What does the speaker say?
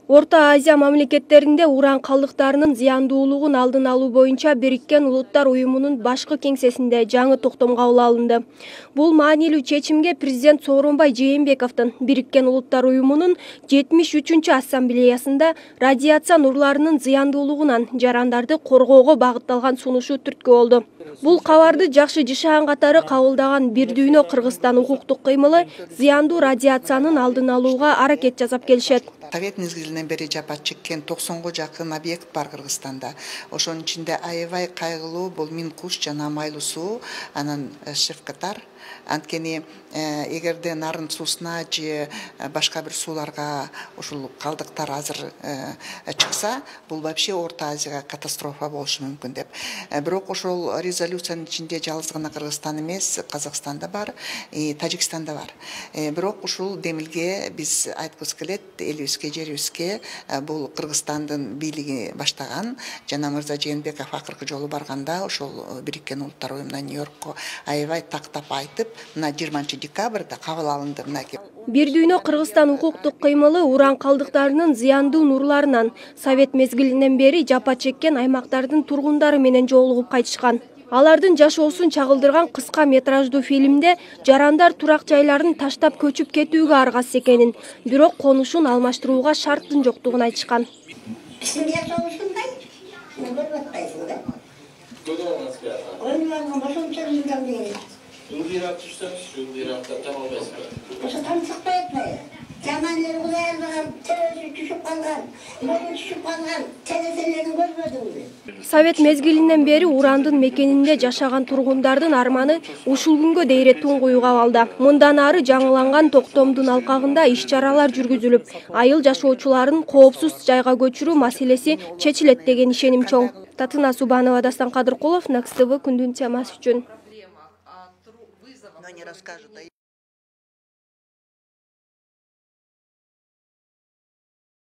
Орто Азия мамлекеттеринде уран калдыктарынын зыяндуулугун алдын алуу боюнча Бириккен Улуттар Уюмунун башкы кеңсесинде жаңы токтом кабыл алынды. Бул маанилүү чечимге президент Сооронбай Жээнбековдун Бириккен Улуттар Уюмунун 73-чү ассамблеясында радиация нурларынын зыяндуулугунан жарандарды коргоого багытталган сунушу түрткү болду. Бул кабарды жакшы жашаган катары кабылдаган Бир дүйнө Кыргызстан укуктук кыймылы зыяндуу радиациянын алдын алууга аракет жасап келишет. Совет мезгилинен бери жапа чеккен 90га жакын объект бар Кыргызстанда. Ошонун ичинде аябай кайгылуу бул Минкуш жана Майлуу суу, анан Шевкатар. Анткени эгерде нарын суусуна же башка бир сууларга ушул калдыктар азыр чыкса, бул вообще Орто Азияга катастрофа болушу мүмкүн деп. Бирок ошол резолюциянын ичинде жалгыз гана Кыргызстан эмес, Казакстанда бар, Тажикстанда бар. Бирок ушул демилге биз айткыбыз келет, элибизге, жерибизге бул Кыргызстандын бийлиги баштаган. Жана мырза Жээнбеков акыркы жолу барганда ошол Бириккен Улуттар Уюмунан Нью-Йоркко аябай тактап айтып, мына 20-декабрда кабыл алынды мынакей. Бир дүйнө Кыргызстан укуктук кыймылы уран калдыктарынын зыяндуу нурларынан Совет мезгилинен бери жапа чеккен аймактардын тургундары менен жолугуп кайтышкан. Алардын жашоосун чагылдырган кыска метраждуу фильмде жарандар турак жайларын таштап көчүп кетүүгө аргасыз экенин, бирок конушун алмаштырууга шарттын жоктугун айтышкан. Совет мезгилинен бери урандын мекенинде жашаган тургундардын арманы ушул күнгө дейре туңгуюп абалда. Мындан ары жаңыланган токтомдун алкагында иш-чаралар жүргүзүлүп, айыл жашоочуларын коопсуз жайга көчүрүү маселеси чечилет деген ишеним чоң. Татына Субанова, Дастан Кадыркулов, Next TV күндүн темасы үчүн.